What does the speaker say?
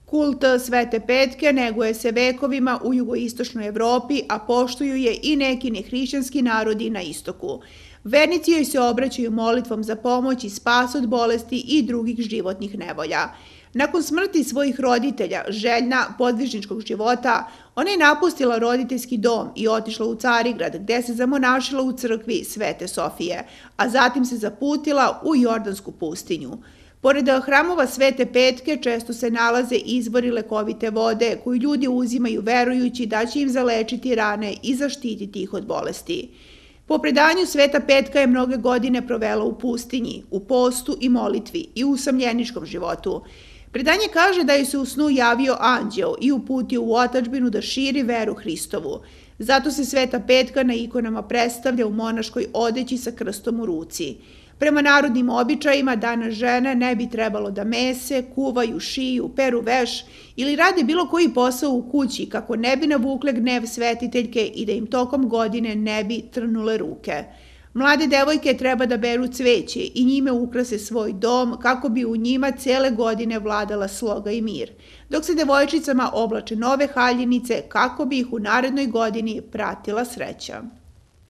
Kult Svete Petke neguje se vekovima u jugoistočnoj Evropi, a poštuju je i neki nehrišćanski narodi na istoku. Vernici joj se obraćaju molitvom za pomoć i spas od bolesti i drugih životnih nevolja. Nakon smrti svojih roditelja, željna podvižničkog života, ona je napustila roditeljski dom i otišla u Carigrad, gde se zamonašila u crkvi Svete Sofije, a zatim se zaputila u Jordansku pustinju. Pored hramova Svete Petke često se nalaze izvori lekovite vode koju ljudi uzimaju verujući da će im zalečiti rane i zaštititi ih od bolesti. Po predanju Sveta Petka je mnoge godine provela u pustinji, u postu i molitvi i u usamljeničkom životu. Predanje kaže da joj se u snu javio anđeo i uputio u otadžbinu da širi veru Hristovu. Zato se Sveta Petka na ikonama predstavlja u monaškoj odeći sa krstom u ruci. Prema narodnim običajima danas žene ne bi trebalo da mese, kuvaju, šiju, peru veš ili rade bilo koji posao u kući kako ne bi navukle gnev svetiteljke i da im tokom godine ne bi trnule ruke. Mlade devojke treba da beru cveće i njime ukrase svoj dom kako bi u njima cele godine vladala sloga i mir, dok se devojčicama oblače nove haljinice kako bi ih u narednoj godini pratila sreća.